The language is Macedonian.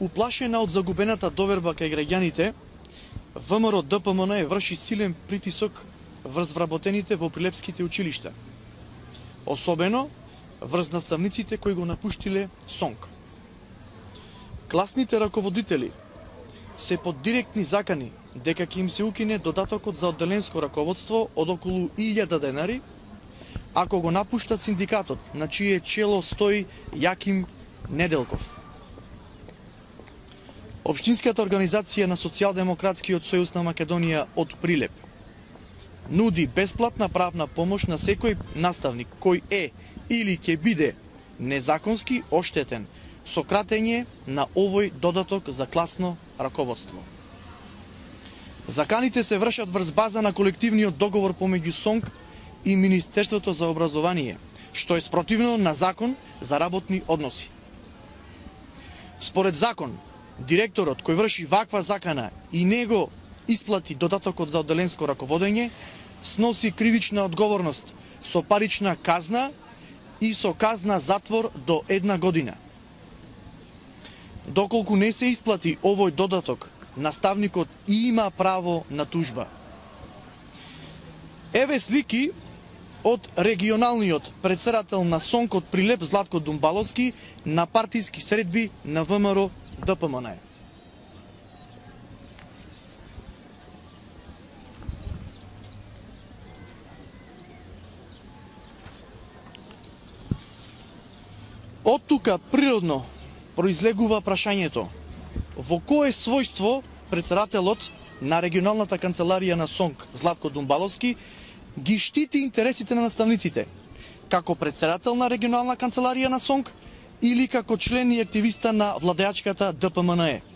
Уплашена од загубената доверба кај граѓаните, ВМРО ДПМН врши силен притисок врз вработените во прилепските училишта, особено врз наставниците кои го напуштиле СОНК. Класните раководители се под директни закани дека ќе им се укине додатокот за одделенско раководство од околу 1000 денари, ако го напуштат синдикатот, на чие чело стои Јаким Неделков. Општинската организација на Социјалдемократскиот сојуз на Македонија од Прилеп нуди бесплатна правна помош на секој наставник кој е или ќе биде незаконски оштетен со кратење на овој додаток за класно раководство. Заканите се вршат врз база на колективниот договор помеѓу СОНК и Министерството за образование, што е спротивно на закон за работни односи. Според закон, директорот кој врши ваква закана и него исплати додатокот за одделенско раководење, сноси кривична одговорност со парична казна и со казна затвор до 1 година. Доколку не се исплати овој додаток, наставникот има право на тужба. Еве слики од регионалниот претседател на СОНК од Прилеп Златко Думбаловски на партиски средби на ВМРО ДПМН. Од тука природно произлегува прашањето: во кое својство претседателот на регионалната канцеларија на СОНК Златко Думбаловски ги штити интересите на наставниците, како претседател на регионална канцеларија на СОНК или како член и активиста на владеачката ДПМН?